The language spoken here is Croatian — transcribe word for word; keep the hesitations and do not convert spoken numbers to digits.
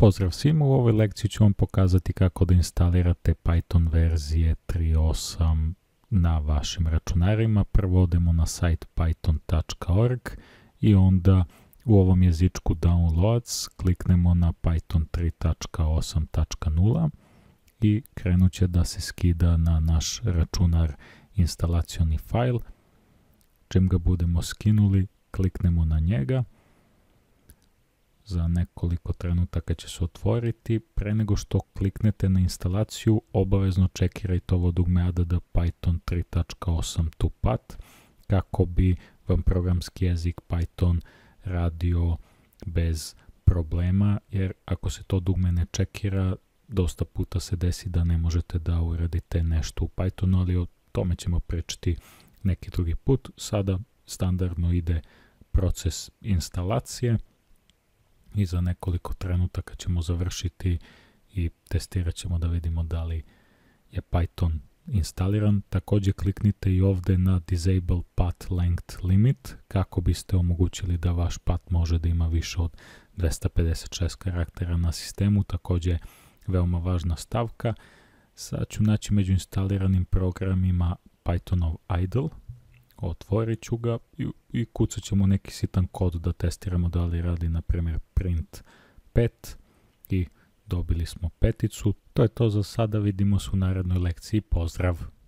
Pozdrav svima, u ovoj lekciji ću vam pokazati kako da instalirate Python verzije tri osam na vašim računarima. Prvo odemo na sajt python tačka org i onda u ovom jezičku Downloads kliknemo na Python tri tačka osam tačka nula i krenut će da se skida na naš računar instalacioni fajl. Čim ga budemo skinuli, kliknemo na njega. Za nekoliko trenutaka će se otvoriti. Pre nego što kliknete na instalaciju, obavezno čekirajte ovo dugme add python tri tačka osam to pat kako bi vam programski jezik Python radio bez problema, jer ako se to dugme ne čekira, dosta puta se desi da ne možete da uradite nešto u Pythonu, ali o tome ćemo pričati neki drugi put. Sada standardno ide proces instalacije i za nekoliko trenutaka ćemo završiti i testirat ćemo da vidimo da li je Python instaliran. Također kliknite i ovdje na Disable Path Length Limit kako biste omogućili da vaš path može da ima više od dvesta pedeset šest karaktera na sistemu. Također veoma važna stavka. Sad ću naći među instaliranim programima Pythonov idle. Otvorit ću ga i, i kucat ćemo neki sitan kod da testiramo da li radi, na primjer, print pet i dobili smo peticu. To je to za sada, vidimo se u narednoj lekciji. Pozdrav!